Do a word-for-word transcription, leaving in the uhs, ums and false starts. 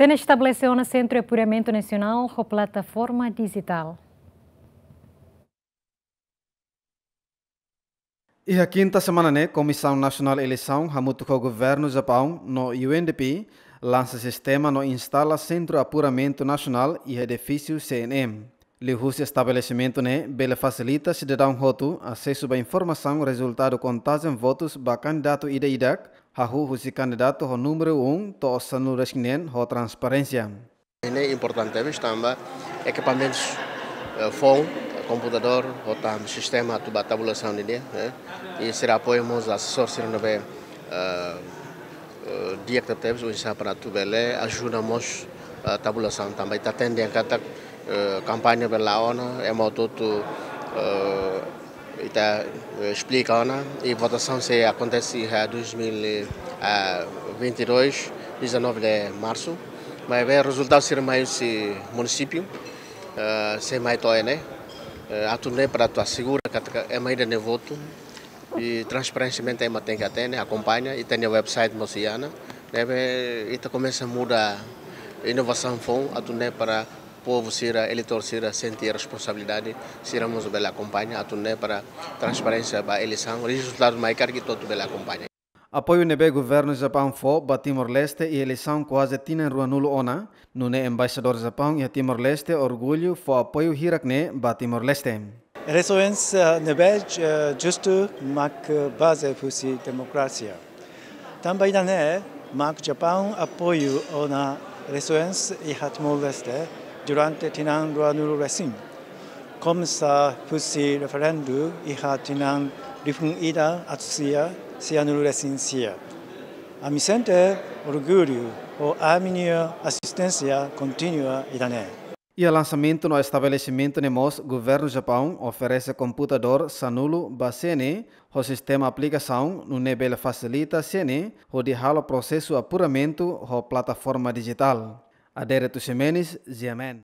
CNE estabelese ona Sentru Apuramentu Nasionál ho plataforma dijitál. Iha kinta semana ne'e, Komisaun Nasionál Eleisaun hamutuk ho Governu Japaun no U N D P lansa sistema no instala Sentru Apuramentu Nasionál iha edifísiu C N M. Liuhusi estabelesimentu ne'e bele fasilita sidadaun hotu asesu ba informasaun rezultadu kontajen votus ba kandidatu ida-idak, hahú husi kandidatu ho númeru um to'o sanulu-resin-neen ho transparénsia. Ne'e importante tebes tanba ekipamentus, eh, foun, komputadór, ho tan sistema atu ba tabulasaun nian, eh, i sira apoiu mós asesór sira ne'ebé, eh, eh, di'ak tebes, oinsá para atu bele ajuda mós, eh, tabulasaun tanba ita hatene katak, eh, kampaña bele la'o ona, ema hotu-hotu, eh, ita, eh, esplika ona, i votasaun sei akontese iha dois mil e vinte e dois, dezanove de março. Maibé rezultadu sira mai husi munisípiu, eh, sei mai to'o ne'e, eh, atu nune'e para atu asegura katak ema ida-ne'e votu, i transparensiamente ema tenke hatene, akompaña, i tenke website mós iha ona, ne'ebé ita komesa muda inovasaun foun, atu nune'e para povu sira, eleitór sira sente responsabilidade, sira mós bele akompaña, atu nune'e para transparénsia ba eleisaun, rezultadu mai karik ita hotu bele akompaña. Apoiu ne'ebé Governu Japaun fó ba Timor-Leste iha eleisaun kuaze tinan ruanulu ona, nune'e Embaixadór Japaun iha Timor-Leste orgullu fó apoiu hirak ne'e ba Timor-Leste. Eleisoens, eh, ne'ebé, eh, justu mak baze husi demokrasia. Tanba ida-ne'e mak Japaun apoiu ona eleisoens iha Timor-Leste durante tinan ruanulu-resin. Komesa husi referendu iha tinan rihun ida atus sia sianulu-resin-sia. Ami sente orgullu ho ami-nia asisténsia kontínua ida-ne'e. Iha lansamentu no estabelesimentu ne'e mós, Governu Japaun oferese komputadór sanulu ba C N E ho sistema aplikasaun nune'e bele fasilita C N E hodi halo prosesu apuramentu ho plataforma dijitál. Adérito Ximenes, G M N.